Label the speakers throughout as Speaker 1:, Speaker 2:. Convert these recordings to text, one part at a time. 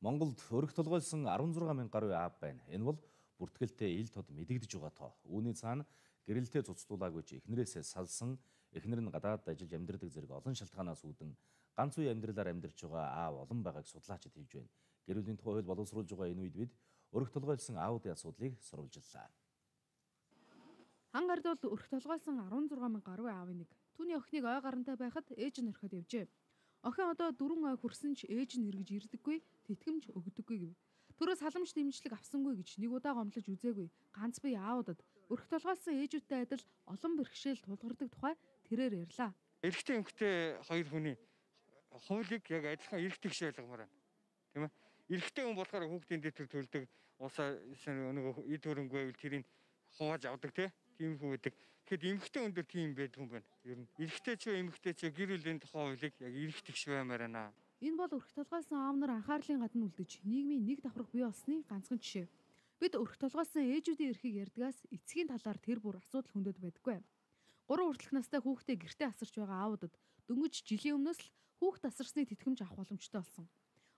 Speaker 1: Монголд өрх толгойлсон 16 мянган гаруй аав байна. Энэ бол бүртгэлтэй ил тод мэдэгдэж байгаа тоо. Үүний цаана гэрэлтэй цуцлуулаагүй ч эхнэрээсээ салсан, эхнэр нь гадаад ажиллаж амьдардаг зэрэг олон шалтгаанаас үүдэн ганц үе амьдралаар амьдарч байгаа аав олон байгааг судлаачид хэлж байна. Гэр бүлийн тухай хууль боловсруулж байгаа энэ үед бид өрх толгойлсон аавуудын асуудлыг сурвалжлаа.
Speaker 2: Хан гард бол өрх толгойлсон 16 мянган гаруй аавын нэг. Түүний охиныг ой гарантай байхад ээж нь орхиод явжээ. Охин одоо 4 ой хүрсэн ч ээж нь эргэж ирдэггүй, тэтгэмж өгдөггүй гэв. Төрөөс халамж дэмжлэг авсангүй гэж нэг удаа гомдлож үзээгүй. Ганц бие аавуудад өрх толгойлсон ээжүүдтэй адил олон бэрхшээл тулгардаг тухай тэрээр ярьлаа.
Speaker 3: Эрэгтэй эмэгтэй хоёр хүний хуулийг яг адилхан эрэгтэй гэж ойлгомоор байна. Тийм ээ. Эрэгтэй хүн болохоор хүүхдийн дэвтэр төлдөг, улсаа нэг эд хөрөнгө байвал тэрийг хувааж авдаг тийм хүн байдаг. Тэгэхэд эмэгтэй хүн дээр тийм байдаг юм байна. Ер нь эрэгтэй ч эмэгтэй ч гэр бүлийн тухай хуулийг яг эрэгтэй гэж баймаар байна.
Speaker 2: Энэ бол өрх толгойлсон аав нар анхаарлын гадна үлдэж нийгмийн нэг давхрах бий болсны ганцхан жишээ. Бид өрх толгойлсон ээжүүдийн эрхийг ярьдгаас эцгийн талаар тэр бүр асуудал хөндөд байдаггүй. 3 хүртэлх настай хүүхдээ гэртээ асарч байгаа аавуудад дөнгөж жилийн өмнөөс л хүүхд асарсны тэтгэмж авах боломжтой болсон.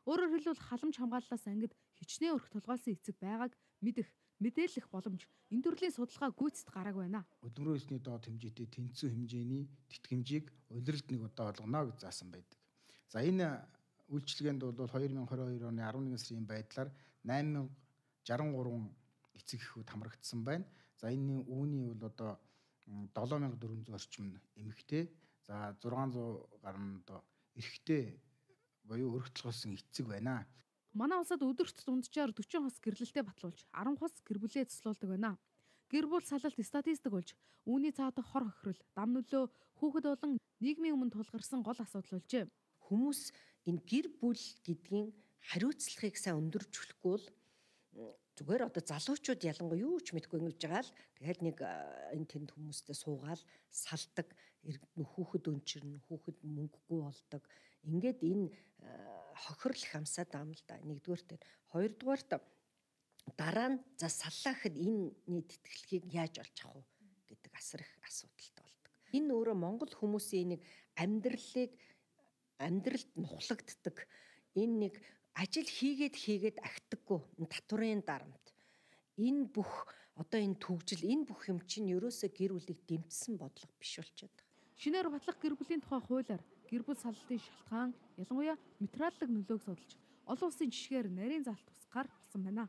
Speaker 2: Өөрөөр хэлбэл халамж хамгааллаас ангид хичнээн өрх толгойлсон эцэг байгааг мэдэх, мэдээлэх боломж энэ төрлийн судалгаа гүйцэд гарааг байна.
Speaker 4: Өдмөрөө өсний доод хэмжээтэй тэнцүү хэмжээний тэтгэмжийг улиралд нэг удаа олгоно гэж заасан байдаг. За энэ үйлчилгээнд бол 2022 оны 11 сарын байдлаар 8063 эцэг эхүүд хамрагдсан байна. За энэ үүний бол одоо 7400 орчим эмэгтэй, за 600 гаруй одоо эрэгтэй буюу өрх толгойлсон эцэг байна.
Speaker 2: Манай улсад өдөрт дунджаар 40 хос гэрлэлтэд батлуулж 10 хос гэр бүлээ цэцлүүлдэг байна. Гэр бүл салалт статистик болж үүний цаатах хор хохирол, дам нөлөө, хүүхэд болон нийгмийн өмнө тулгарсан гол асуудал болжээ.
Speaker 5: Хүмүүс энэ гэр бүл гэдгийн хариуцлагыг сайн өндөрж өглөхгүй бол зүгээр одоо залуучууд ялангуяа юу ч мэдгүй ингэж байгаа л тэгээд нэг энэ тэнд хүмүүстэй суугаал салдаг, хүүхэд өнчирнэ, хүүхэд мөнгөгүй болдог. Ингээд энэ хохирол хамсаад байгаа юм л да. Нэгдүгээрт, хоёрдугаарт дараа нь за саллаа гэхэд энэний тэтгэлгийг яаж олж авах вэ гэдэг асар их асуудалтай болдог. Энэ өөрөө монгол хүмүүсийн нэг амьдралд нухлагддаг энэ нэг ажил хийгээд агтдаггүй татварын дарамт. Энэ бүх одоо энэ төгжил, энэ бүх юм чинь ерөөсөө гэр бүлийг дэмжсэн бодлого биш болчиход байгаа.
Speaker 2: Шинээр батлах гэр бүлийн тухай хуулиар гэр бүл саллалтын шалтгаан ялангуяа материаллык нөлөөг судалж олон улсын жишгээр нарийн залт тусгаар болсон байна.